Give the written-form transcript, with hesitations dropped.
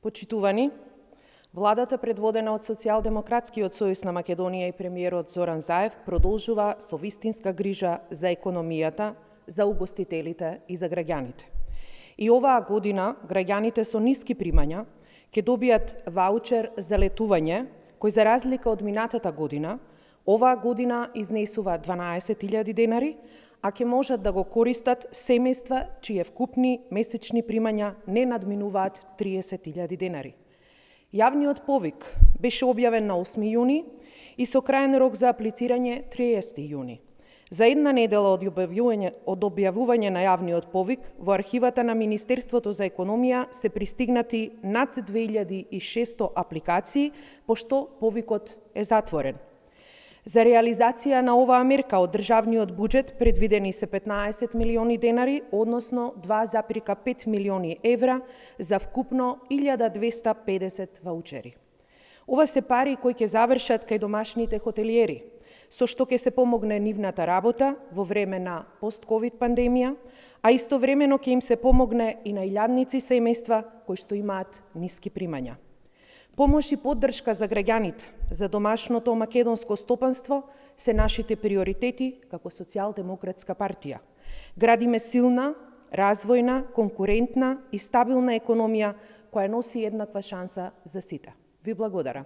Почитувани, владата предводена од Социјалдемократскиот сојуз на Македонија и премиерот Зоран Заев продолжува со вистинска грижа за економијата, за угостителите и за граѓаните. И оваа година граѓаните со ниски примања ќе добијат ваучер за летување, кој за разлика од минатата година, оваа година изнесува 12.000 денари, а ќе можат да го користат семејства чие вкупни месечни примања не надминуваат 30.000 денари. Јавниот повик беше објавен на 8 јуни и со крајен рок за аплицирање 30 јуни. За една недела од објавување на јавниот повик, во архивата на Министерството за економија се пристигнати над 2600 апликации, пошто повикот е затворен. За реализација на оваа мерка од државниот буџет предвидени се 15 милиони денари, односно 2,5 милиони евра за вкупно 1250 ваучери. Ова се пари кои ќе завршат кај домашните хотелиери, со што ќе се помогне нивната работа во време на пост-ковид пандемија, а истовремено ќе им се помогне и на илјадници семејства кои што имаат ниски примања. Помош и поддршка за граѓаните, за домашното македонско стопанство се нашите приоритети како Социјалдемократска партија. Градиме силна, развојна, конкурентна и стабилна економија која носи еднаква шанса за сите. Ви благодарам.